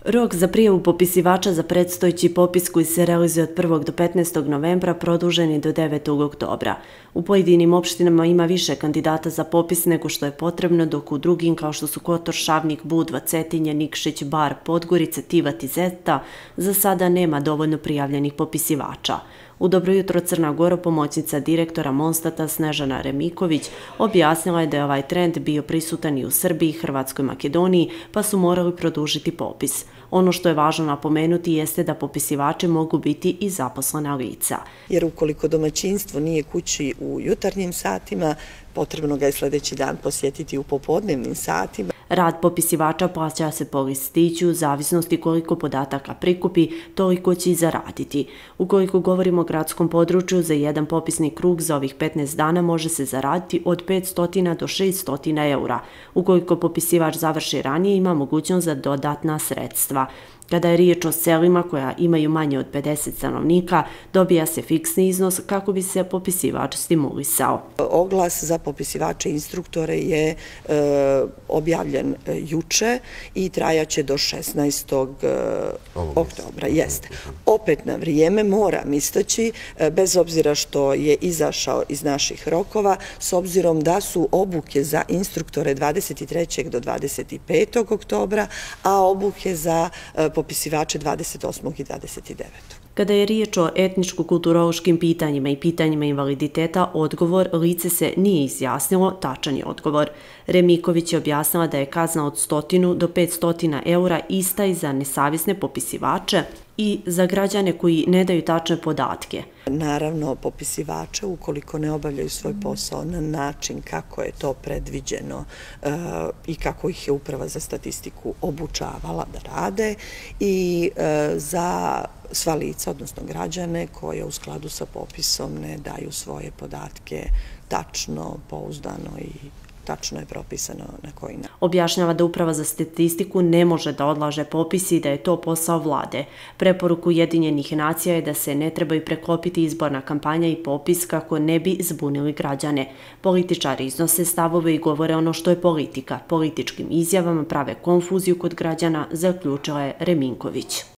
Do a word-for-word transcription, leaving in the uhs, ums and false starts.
Rok za prijavu popisivača za predstojeći popis koji se realizuje od prvog do petnaestog novembra produžen je do devetog oktobra. U pojedinim opštinama ima više kandidata za popis nego što je potrebno, dok u drugim kao što su Kotor, Šavnik, Budva, Cetinje, Nikšić, Bar, Podgorica, Tivat i Zeta za sada nema dovoljno prijavljenih popisivača. U Dobro jutro Crna Gora pomoćnica direktora Monstata Snežana Remiković objasnila je da je ovaj trend bio prisutan i u Srbiji, Hrvatskoj i Makedoniji, pa su morali produžiti popis. Ono što je važno napomenuti jeste da popisivači mogu biti i zaposlena lica. Jer ukoliko domaćinstvo nije kući u jutarnjim satima, potrebno ga je sljedeći dan posjetiti u popodnevnim satima. Rad popisivača plaća se po listiću, u zavisnosti koliko podataka prikupi, toliko će i zaraditi. Ukoliko govorimo o gradskom području, za jedan popisni krug za ovih petnaest dana može se zaraditi od petsto do šesto eura. Ukoliko popisivač završi ranije, ima mogućnost za dodatna sredstva. Kada je riječ o selima koja imaju manje od pedeset stanovnika, dobija se fiksni iznos kako bi se popisivač stimulisao. Oglas za popisivače i instruktore je e, objavljen juče i trajaće do šesnaestog oktobra. Jeste. Opet na vrijeme moram istaći, bez obzira što je izašao iz naših rokova, s obzirom da su obuke za instruktore dvadeset trećeg do dvadeset petog oktobra, a obuke za popisivače dvadeset osmog i dvadeset devetog Kada je riječ o etničko-kulturološkim pitanjima i pitanjima invaliditeta, odgovor lice se nije izjasnilo, tačan je odgovor. Remiković je objasnila da je kazna od stotinu do petsto eura ista i za nesavjesne popisivače i za građane koji ne daju tačne podatke. Naravno, popisivače, ukoliko ne obavljaju svoj posao na način kako je to predviđeno e, i kako ih je Uprava za statistiku obučavala da rade, i e, za sva lica, odnosno građane, koje u skladu sa popisom ne daju svoje podatke tačno, pouzdano i tačno je propisano na koji način. Objašnjava da Uprava za statistiku ne može da odlaže popis i da je to posao vlade. Preporuka Ujedinjenih nacija je da se ne trebaju preklopiti izborna kampanja i popis kako ne bi zbunili građane. Političari iznose stavove i govore ono što je politika. Političkim izjavama prave konfuziju kod građana, zaključila je Reminković.